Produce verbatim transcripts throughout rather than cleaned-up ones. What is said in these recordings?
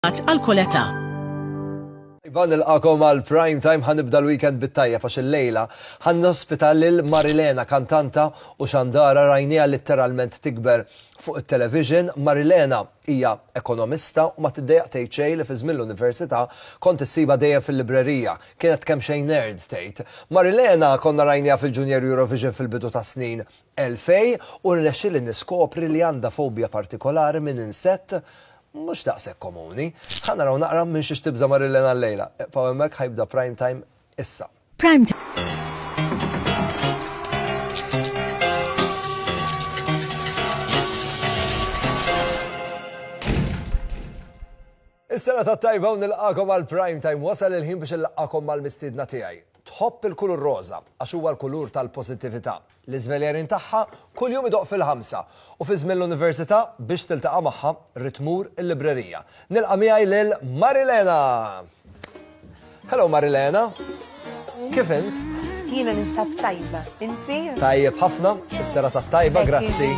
Għal kull età. Iva, nilqagħkom għal Prime Time. Ħa nibda l-weekend bit-tajjeb għax il-lejla ħa nospita lil Marilena, kantanta u xandara rajnieha literalment tikber fuq il-television. Marilena hija ekonomista u ma tiddejjaq tgħid xejn li fi żmien l-università kont issibha dejjem fil-librerija. Kienet kemm xejn nerd, tgħid. Marilena konna rajnieha fil-Junior Eurovision fil-bidu ta' snin elfejn u rnexxieli niskopri li għandha fobja partikolari minn insett mhux daqshekk komuni. Ħa naraw naqra minn xiex tibża Marilena l-lejla. Ibqgħu hemmhekk, ħa jibda Prime Time issa. Prime Time. Is-sena ta' tajba u nilqagħkom għal Prime Time. Wasal il-ħin biex nlaqqagħkom mal-mistiedna tiegħi. Tħobb il-kulur roza għax huwa l-kulur tal-pożittività. L-iżveljarin tagħha kuljum idoqq fil-ħamsa u fi żmien l-università biex tiltaqa' magħha ridt tmur il-librerija. Nilqa' miegħi lil Marilena. Hello, Marilena. Kif int? Jiena ninsab tajba. Inti? Tajjeb ħafna, is-sera tat-tajba, grazzi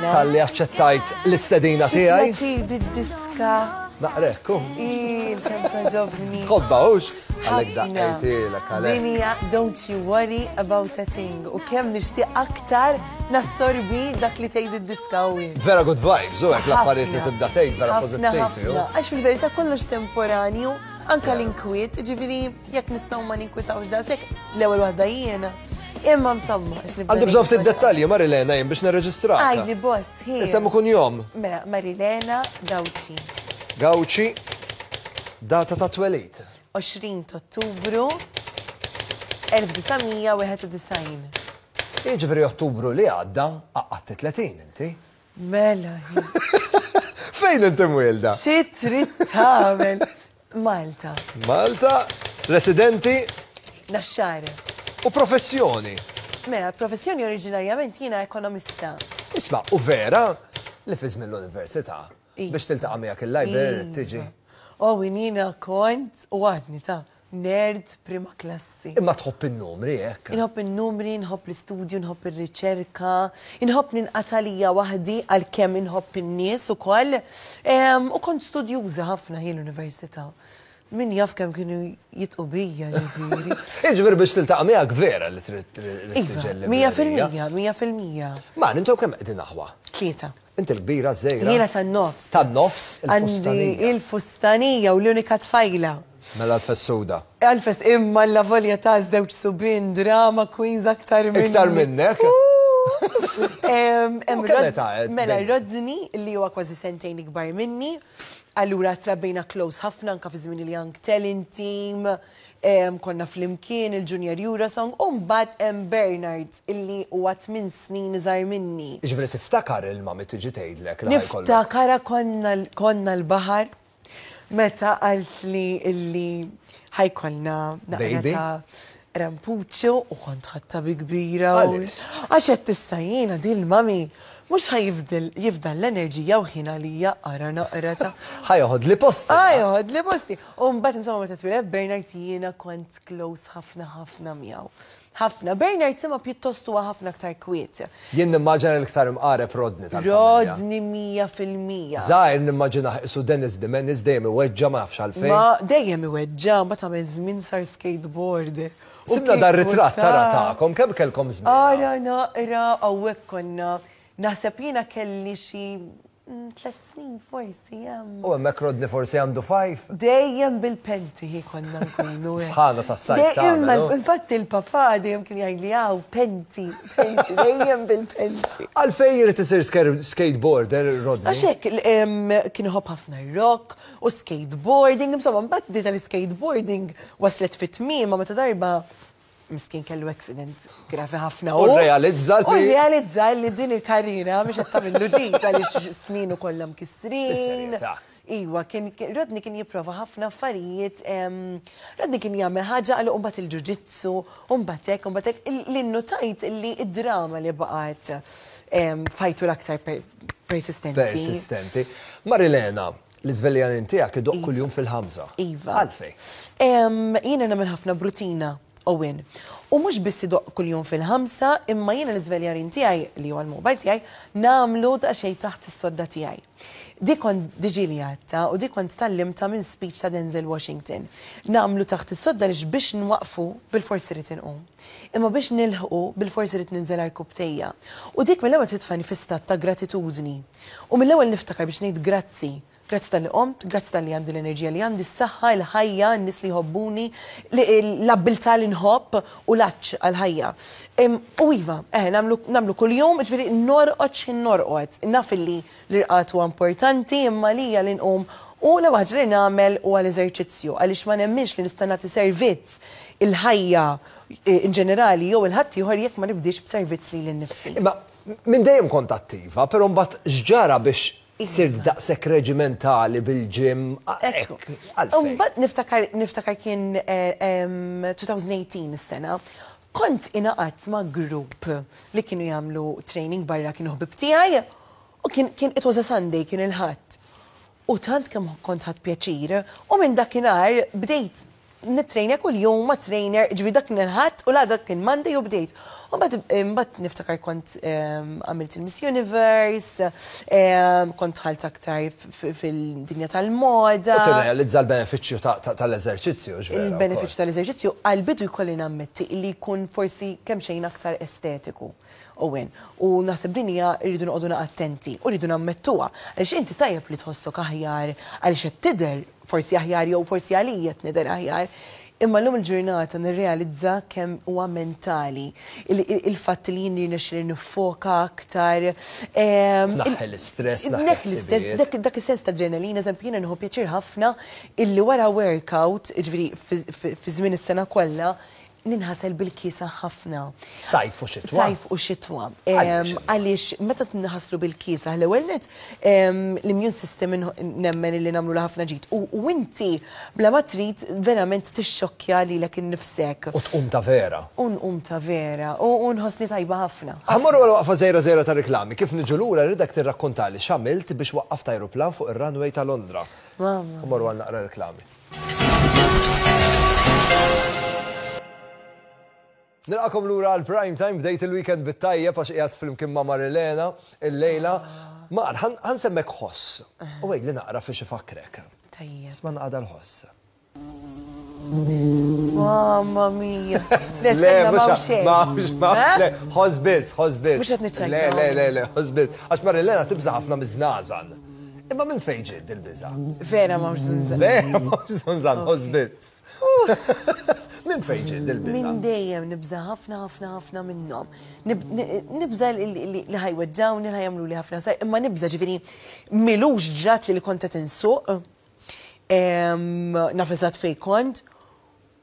talli aċċettajt l-istedina tiegħi. Pjaċir, did-diska. Naqrek, u. Il-kemm togħġobni. Tħobbha hux? Għalhekk daqqejtilek għalhekk. Din hija "Don't you worry about a thing". U kemm nixtieq aktar nassorbi dak li tgħid id-diska u Vera good vibes, u hekk l-affarijiet li tibda tgħid vera pożittivi. Ħafna. Għax fil-verità kollox temporanju, anka l-inkwiet, ġifieri jekk nistgħu ma ninkwitawx daqshekk, l-ewwel waħda jiena. Imma msamma. Għandi bżonn ftit dettalji, Marilena, jien biex nirreġistrak. Għidli, boss, hi. Isem u kunjom. Mela, Marilena Gauci. Gauci, data ta' twelid. għoxrin ta' Ottubru elf disa' mija wieħed u disgħin. Jiġifieri Ottubru li għadda għaqqadt tletin inti. Mela, hi. Fejn inti mwielda? Xi trid tagħmel? Malta. Malta, residenti? Naxxar. U professjoni. Mela, professjoni oriġinarjament jiena ekonomista. Isma', u vera li fi żmien l-università Iva. biex tiltaqa' miegħek il-library Iva. tiġi. Oh, jiena kont u għadni ta' nerd prima klassi. Imma tħobb in-numri hekk. Inħobb in-numri, inħobb l-istudju, inħobb ir-riċerka, inħobb ninqata' lija waħdi għalkemm inħobb in-nies ukoll. Em, U kont studjuża ħafna jien l-università. Min jaf kemm kienu jidħqu bija, ġifieri. Jiġifieri biex tiltaqa' miegħek vera li trid trid Iva, tiġi l-librerija. mija fil-mija, mija fil-mija. Ma intom kemm qegħdin aħwa? Tlieta. Inti l-kbira, żgħira? Jiena tan-nofs. Tan-nofs, Għandi il-fustanija. il-fustanija u l-unika tfajla. Mela l-fessuda. Għalfes, imma la volja ta' żewġ subien drama queens aktar minni. Iktar minnek? Em, em, U kemm Rod- età qed Mela, bejn? Rodney, li huwa kważi sentejn ikbar minni, allura trabbejna close ħafna anka fi żmien il-Young Talent Team, em, konna flimkien il-Junior Eurosong, u mbagħad hemm Bernard, illi huwa tmien snin iżgħar minni. Jiġifieri tiftakar il-mami tiġi tgħidlek li ħa jkollok. Niftakara konna, konna l-baħar meta qalt li illi ħa jkollna naqra Baby? ta' rampuċċu u kont ħadtha bi kbira. u- Għaliex? Għax qed tista' jiena din mami mhux ħa jifdil jifdal l-enerġija u ħin għalija, ara naqra ta' Ħa joħodli posti. Ħa joħodli posti. U mbagħad insomma meta twieled Bernard jiena kont close ħafna ħafna miegħu. Ħafna. Bernard sema pjuttost huwa ħafna aktar kwiet. Jien nimmaġina l-iktar imqareb Rodney tal-familja. Rodney mija fil-mija. Żgħir nimmaġina qisu Dennis the Menace, dejjem iweġġa, ma nafx għalfejn. Ma dejjem iweġġa, ma ta' żmien sar skateboarder. U Sibna dar kieku ritratt tara ta' tagħkom, kemm kellkom żmien? Ara naqra, hawnhekk konna. Naħseb jiena kelli xi mm, tliet snin forsi hemm. U hemmhekk Rodney forsi għandu five. Dejjem bil-penti hi konna nkunu. eh. Sħana tas-sajf Dejjem, tagħmel, no? Infatti il-papà dejjem kien jgħidli hawn penti, penti, dejjem bil-penti. Għalfejn jrid isir sker- skateboarder Rodney? Għax hekk, em, kien iħobb ħafna rock u skateboarding, insomma, mbagħad di tal-skateboarding waslet fit-tmiem meta darba miskin kellu accident gravi ħafna. U realizza li- U realizza li din il-karriera mhix qed tagħmillu ġid għaliex sninu kollha mkissrin. Bis-serjetà. Iwa, kien, kien- Rodney kien jipprova ħafna affarijiet, em, Rodney kien jagħmel ħaġa għal mbagħad il-ġuġitsu, u mbagħad hekk, u mbagħad hekk, li nnotajt li id-drama li baqgħet em, fajtu l-aktar per- persistenti. Persistenti. Marilena, l-iżveljarin tiegħek idoqq kuljum fil-ħamsa. Iva. Għalfejn? Em, Jiena nagħmel ħafna b'rutina, Owen. U mhux biss idoqq kuljum fil-ħamsa, imma jiena l-iżveljarin tiegħi li huwa l-mobile tiegħi nagħmlu daqsxejn taħt is-sodda tiegħi. Dik kont diġà li għedtha u dik kont tgħallimtha minn speech ta' Denzel Washington. Nagħmlu taħt is-sodda lix biex nwaqfu bil-forsi rrid inqum. Imma biex nilħqu bil-forsi rrid ninżel għarkupptejja. U dik mill-ewwel titfani fi stat ta' gratitudni. U mill-ewwel niftakar biex ngħid grazzi. Grazzi talli qomt, grazzi talli għandi l-enerġija li għandi, s-saħħa, il-ħajja, n-nies li jħobbuni, l-abbiltà li nħobb u l-għatx għal-ħajja. U iva, eh, nagħmlu kuljum, ġifieri norqod x'ħin norqod. Naf li l-irqad huwa importanti, imma lili li nqum u l ħaġa li nagħmel huwa l-eżerċizzju, għaliex ma nemminx li nista' nagħti servizz il-ħajja eh, in ġenerali jew il-ħadd ieħor jekk ma nibdix b'servizz lili nnifsi. Imma minn dejjem kont attiva, però mbagħad x'ġara biex sirt daqshekk reġimentali bil-gym? Ekku. Mbagħad niftakar niftakar kien eh, em, elfejn u tmintax is-sena. Kont ingħaqadt ma' grupp li kienu jagħmlu training barra, kienu ħbib tiegħi u kien kien it was a Sunday, kien il-Ħadd. U tant kemm kont ħadt pjaċir u minn dakinhar bdejt nittrejnja kull jum ma' trainer, ġifieri dak kien il-Ħadd u la dak kien Monday u bdejt. U mbagħad mbagħad niftakar kont em, għamilt il-Miss Universe, em, kont dħalt aktar f- fil-dinja tal-moda. U tirrealizza l-benefiċċju ta- ta- tal-eżerċizzju, ġvera. Il-benefiċċju tal-eżerċizzju għal-bidu jkolli nammetti li jkun forsi kemm xejn aktar estetiku. Owen, u naħseb din hija rridu noqogħdu attenti u rridu nammettuha. Għaliex inti tajjeb li tħossok aħjar, għaliex qed tidher forsi aħjar jew forsi għalija qed nidher aħjar. Imma l-lum il-ġurnata nirrealizza kemm huwa mentali. Il- il- Il-fatt li jien nirnexxi nifoka aktar. em, Naħħi l-istress, naħħi Neħħi l-istress, ħsibijiet. dak dak is-sens ta' adrenalina, eżempju, jiena nieħu pjaċir ħafna illi wara workout, ġifieri fi fi żmien is-sena kollha, ninħasel bil-kiesaħ ħafna. Sajf u xitwa. Sajf u xitwa. Għaliex? Em, Għaliex meta tinħaslu bil-kiesaħ, l-ewwel net em, l-immune system inħ- nemmen li nagħmlu ħafna ġid. U u inti bla ma trid verament tixxokkja lilek innifsek. U tqum ta' vera. U nqum ta' vera. U u nħossni tajba ħafna. Ħa mmorru għal waqfa żgħira żgħira ta' reklami. Kif niġu lura rridek tirrakkontali x'għamilt biex waqqaft ajruplan fuq ir-runway ta' Londra. Mamma. Ħa mmorru għal naqra reklami. Nilqagħkom lura għal prime time, bdejt il-weekend bit-tajjeb għax qiegħed flimkien ma' Marilena il-lejla. Mar, ħa nsemmek ħoss. U għidli naqra fiex ifakkrek. Tajjeb. Isma' naqra l-ħoss. Mamma mia. Le, mhux ma mhux ma le, ħoss biss, ħoss biss. Mhux qed niċċajta. Le, le, le, le, ħoss biss. Għax Marilena tibża ħafna miż-żnażan. Imma minn fejn ġiet il-biża? Vera ma żunżan. Vera, mhux żunżan, ħoss biss. Minn fejn ġiet il-biża? Minn dejjem nibża ħafna ħafna ħafna minnhom. Nib- ni- Nibża li li- li ħa jweġġgħuni, li ħa jagħmlu li ħafna saj, imma nibża, ġifieri m'ilux ġrat li li kont qed insuq, em, naf eżatt fejn kont,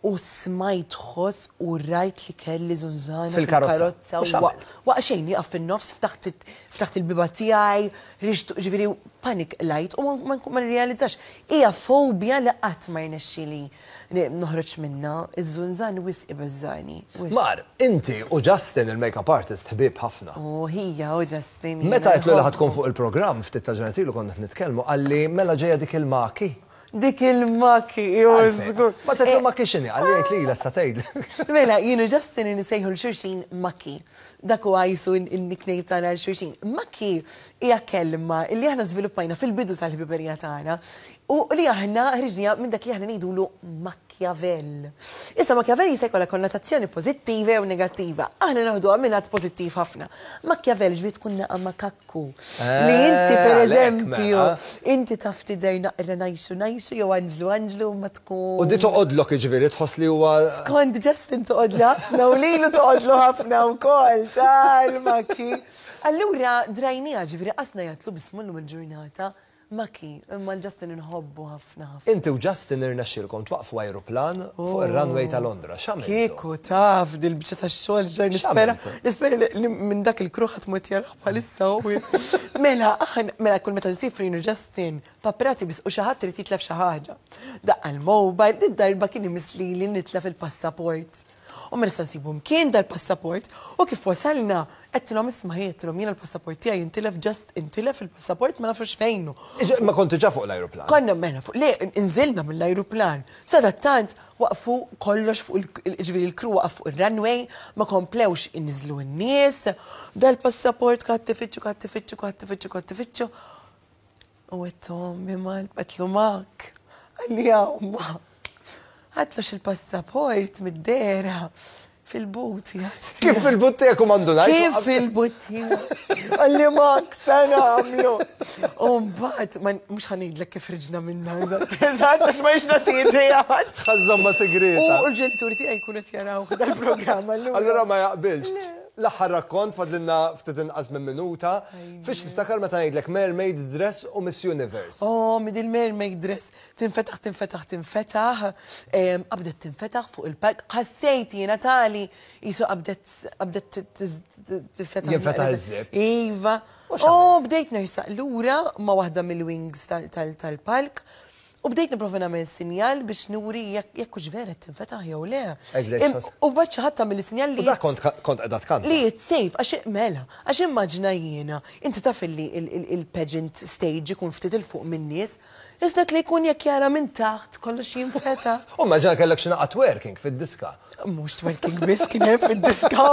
u smajt ħoss u rajt li kelli żunżana Fil-karozza. fil-karozza. U x'għamilt? Waqt xejn, nieqaf fin-nofs, ftaħt ftaħt il-bieba tiegħi, ħriġt, ġifieri panic light u ma ma ma nirrealizzax. Hija fobja li qatt ma rnexxieli noħroġ minna, iż-żunżan wisq ibeżżani. Wisq. Mar, inti u Justin il-makeup artist ħbieb ħafna. U hija u Justin. Meta għedtlu li ħa tkun fuq il-programm ftit ta' ġranet ilu konna qed nitkellmu, qalli mela ġejja dik il-maki. Dik il-maki, ju żgur. Ma għedtlu maki x'inhi, qalli għedt li la tgħid. Mela, jien u Justin insejħu 'l xulxin Maki. Dak huwa jisu il-nickname tagħna 'l xulxin. Maki hija kelma li aħna żviluppajna fil-bidu tal-ħbiberija tagħna u li aħna ħriġnija minn dak li aħna ngħidulu Machiavelli. Issa Machiavelli jista' jkollha konnotazzjoni pożittiva u negattiva. Aħna naħduha minn pożittiv ħafna. Machiavelli ġifieri tkun naqa makakku. Li inti per għalhekk, eżempju, mela. inti taf tidher naqra najxu najxu jew anġlu anġlu ma tkun. U di toqgħodlok, jiġifieri tħoss li huwa. Skont Justin toqgħodlu ħafna u lilu toqgħodlu ħafna wkoll tal-maki. Allura drajnija, ġifieri qasna jgħatlu bismullu mill-ġurnata Maki, imma l-Justin inħobbu ħafna ħafna. Inti u Justin irnexxielkom twaqfu ajruplan fuq ir-runway ta' Londra. X'għamiltu? Kieku taf dil-biċċa tax-xogħol ġar nispera, X'għamiltu? nispera li li minn dak il-crew ħadd mod jarah bħalissa u. Mela, aħna mela kull meta nsifru jien u Justin, paprati biss u xi ħadd irid jitlef xi ħaġa. Daqqa l-mobile, din darba kien imisli li nitlef il-passaport. U ma nista' nsibu mkien dal-passaport u kif wasalna għedtilhom, isma', għedtilhom jiena l-passaport tiegħi intilef, just intilef il-passaport, ma nafux fejnu. Iġ- Ma kontu ġa fuq l-ajruplan. Konna mela fuq, le, inżilna mill-ajruplan. Sadattant waqfu kollox fuq il- ġifieri il-crew waqaf fuq il-runway, ma komplewx inniżlu n-nies, dal-passaport kat tifittxu, kat tifittxu, kat tifittxu, kat tifittxu. U għedtu ommi mal, għedtlu mak. Qalli ma. Għedtlu xil-passaport mid-dera fil-but. Kif fil-but tiegħek u mandunajt? Kif fil-but? Qalli mak, sa nagħmlu. U mbagħad, mhux ħa ngħidlek kif ħriġna minna, eżatt, eżatt, għax ma jiex nagħti idejat. Ħa żżommha segreta. U l-ġenituri tiegħi jkunu qed jaraw dal-programm allura. Allura ma jaqbilx. L-aħħar rakkont, fadlilna ftit inqas minn minuta. Fiex tiftakar meta ngħidlek mermaid dress u Miss Universe? Oh, mid il-mermaid dress tinfetaħ, tinfetaħ, tinfetaħ, qabdet tinfetaħ fuq il-palk. Ħassejt jiena tali jisu qabdet qabdet tinfetaħ. Jinfetaħ iż-zip. Iva. Oh, bdejt nersaq lura ma' waħda mill-wings tal-palk. U bdejt nipprova nagħmel sinjal biex nuri jekk hux vera tinfetaħ jew le. U mbagħad xi ħadd tagħmel sinjal li. Dak kont kont qiegħda tkanta. Li it's safe, għax mela, għax immaġna jiena, inti taf li il-pageant stage ikun ftit il fuq min-nies, iżda li jkun jekk jara minn taħt kollox jinfetaħ. U immaġina kellek xi naqa twerking fid-diska. Mhux twerking biss kien hemm fid-diska.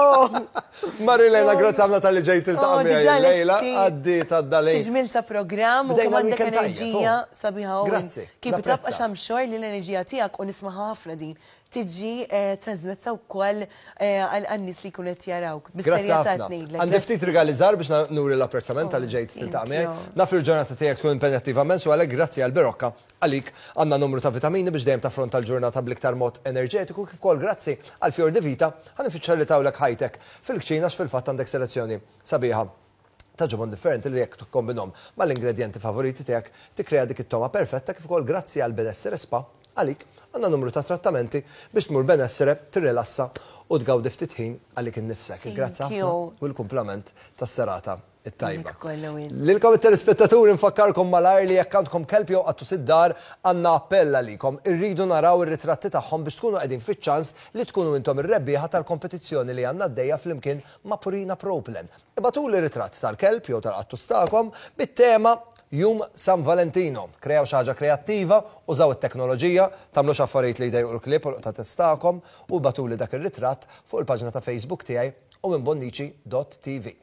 Marilena, grazzi ħafna talli ġejt tiltaqa' miegħi llejla. Għaddiet għadda Xi ġmiel ta' programm u kemm għandek enerġija sabiħa. Grazzi. Keep it up, għax I'm sure li l-enerġija tiegħek, u nisma' ħafna din, tiġi trasmessa wkoll għan-nies li jkunu qed jarawk. Grazzi ħafna. Għandi ftit rigali żgħar biex nuri l-apprezzament talli ġejt tiltaqa' miegħi. Naf il-ġurnata tiegħek tkun impenjattiva immens u għalhekk grazzi għal Berocca għalik għandna numru ta' vitamini biex dejjem taffronta l-ġurnata bl-iktar mod enerġetiku, kif ukoll grazzi għal Fior di Vita ħa niffaċilitawlek ħajtek fil-kċina, fil-fatt għandek selezzjoni sabiħa ta' ġobon differenti li jekk tikkombinhom mal-ingredienti favoriti tiegħek tikkrea dik it-toma perfetta, kif ukoll grazzi għal Benessere Spa għalik għandna numru ta' trattamenti biex tmur Benessere, tirrilassa u tgawdi ftit ħin għalik innifsek. Grazzi ħafna u l-kumplament tas-serata it-tajba. Lilkom it-telespettaturi nfakkarkom malajr li jekk għandkom kelb jew qattus id-dar, għandna appell għalikom. Irridu naraw ir-ritratti tagħhom biex tkunu qegħdin fiċ-ċans li tkunu intom ir-rebbieħa tal-kompetizzjoni li għandna għaddejja flimkien ma' Purina Pro Plan. Ibagħtuli ritratt tal-kelb jew tal-qattus tagħkom bit-tema Jum San Valentino. Kreaw xi ħaġa kreattiva, użaw it-teknoloġija, tagħmlux affarijiet li jdejqu l-klieb u l-qtates tagħkom u ibagħtuli dak ir-ritratt fuq il-paġna ta' Facebook tiegħi u minn bonnici dot T V.